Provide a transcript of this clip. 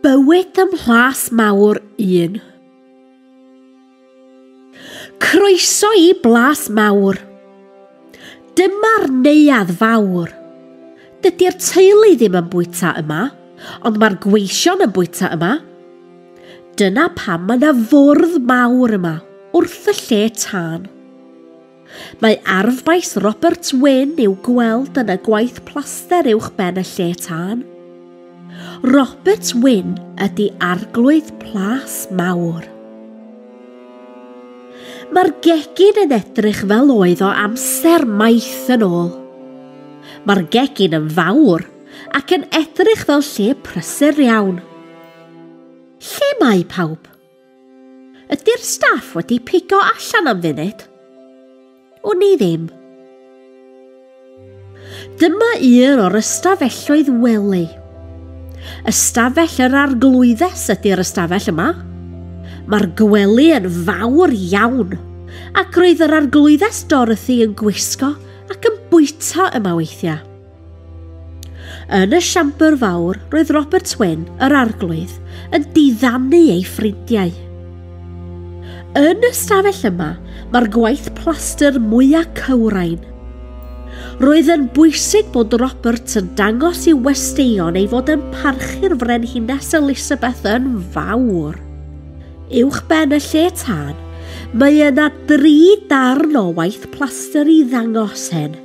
Bywyd ym Mhlas Mawr 1. Croeso i Blas Mawr. Dyma'r neuadd fawr. Dydy'r teulu ddim yn bwyta yma, ond mae'r gweision yn bwyta yma. Dyna pam mae yna fwrdd mawr yma, wrth y lle tân. Mae arfbais Robert Wynn i'w gweld yn y gwaith plaster uwch ben y lle tân. Robert Wynn ydy arglwydd Plas Mawr. Mae'r gegin yn edrych fel oedd o amser maith yn ôl. Mae'r gegin yn fawr ac yn edrych fel lle prysur iawn. Lle mae pawb? Ydy'r staff wedi pigo allan am funud? Wn i ddim. Dyma un o'r ystafelloedd wely. Ystafell yr arglwyddes ydy'r ystafell yma. Mae'r gwely yn fawr iawn, ac roedd yr arglwyddes Dorothy yn gwisgo ac yn bwyta yma weithiau. Yn y siambr fawr, roedd Robert Wynn, yr arglwydd, yn diddanu ei ffrindiau. Yn y stafell yma, mae'r gwaith plastr mwyaf cywrain. Roedd yn bwysig bod Robert yn dangos i'w westeion ei fod yn parchu'r frenhines Elizabeth yn fawr. Uwch ben y lle tân, mae yna dri darn o waith plastr i ddangos hyn.